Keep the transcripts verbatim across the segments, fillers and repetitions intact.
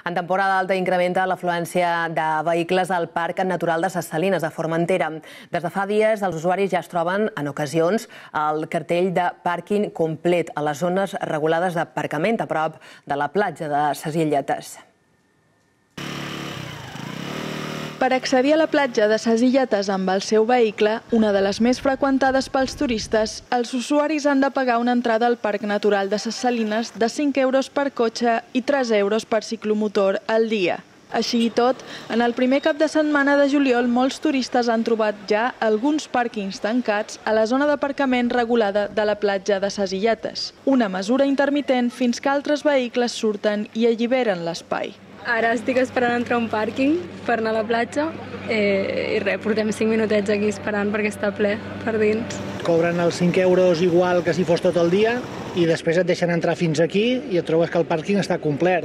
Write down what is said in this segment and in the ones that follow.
En temporada alta incrementa l'afluència de vehicles al Parc Natural de Ses Salines, a Formentera. Des de fa dies, els usuaris ja es troben, en ocasions, el cartell de pàrquing complet a les zones regulades d'aparcament a prop de la platja de Ses Illetes. Per accedir a la platja de Ses Illetes amb el seu vehicle, una de les més freqüentades pels turistes, els usuaris han de pagar una entrada al Parc Natural de Ses Salines de cinc euros per cotxe i tres euros per ciclomotor al dia. Així i tot, en el primer cap de setmana de juliol, molts turistes han trobat ja alguns pàrquings tancats a la zona d'aparcament regulada de la platja de Ses Illetes, una mesura intermitent fins que altres vehicles surten i alliberen l'espai. Ara estic esperant entrar a un pàrquing per anar a la platja eh, i res, portem cinc minutets aquí esperant perquè està ple per dins. Cobren els cinc euros igual que si fos tot el dia i després et deixen entrar fins aquí i et trobes que el pàrquing està complet.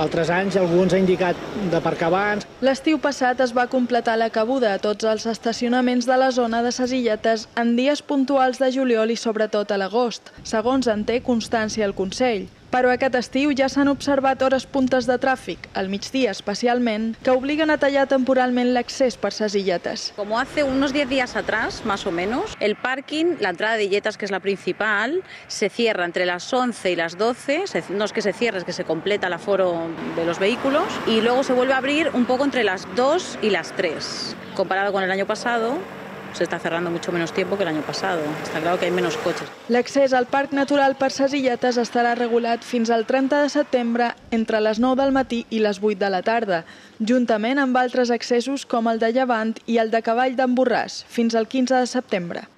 Altres anys algú ens ha indicat d'aparcar abans. L'estiu passat es va completar la cabuda a tots els estacionaments de la zona de Ses Illetes en dies puntuals de juliol i sobretot a l'agost, segons en té constància el Consell. Però aquest estiu ja s'han observat hores puntes de tràfic, al migdia especialment, que obliguen a tallar temporalment l'accés per Ses Illetes. Como hace unos diez días atrás, más o menos, el parking, la entrada de Illetes, que es la principal, se cierra entre las once y las doce, no es que se cierre, es que se completa el aforo de los vehículos, y luego se vuelve a abrir un poco entre las dos y las tres. Comparado con el año pasado, se està cerrando mucho menos tiempo que el año pasado. Está claro que hay menos coches. L'accés al Parc Natural per Ses Illetes estarà regulat fins al trenta de setembre entre les nou del matí i les vuit de la tarda, juntament amb altres accessos com el de Llevant i el de Cavall d'en Borràs, fins al quinze de setembre.